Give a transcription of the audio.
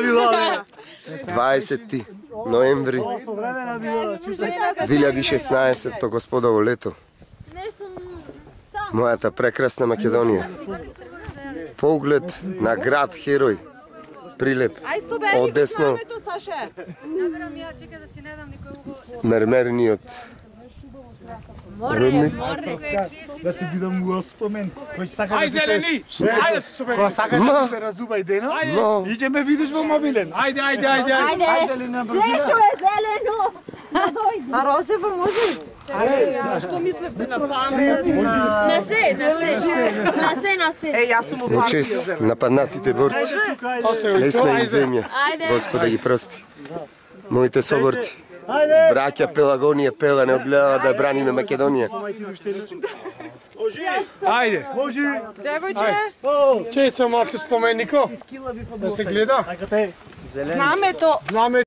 20 ноември 2016 господово лето. Мојата прекрасна Македонија. Поглед на град Херој. Прилеп. Одесно. Мермерниот рудник. Да ти видам го спомен. Кој сака да зелени. Ајде супер. Кој сака да се разуба идено? Иđе ме видиш во мобилен. Ајде. Ајде Лена брзина. Слешо е зелено. А розево може? Што мислевте на памет? На се. Јас сум Во чест нападнатите борци. Лесна им земја. Господа ги прости. Моите соборци. Браќа Пелагонија Пела не одгледа да браниме Македонија. Ајде. Девојче, Чеј се малце споменнико. Да се гледа. знамето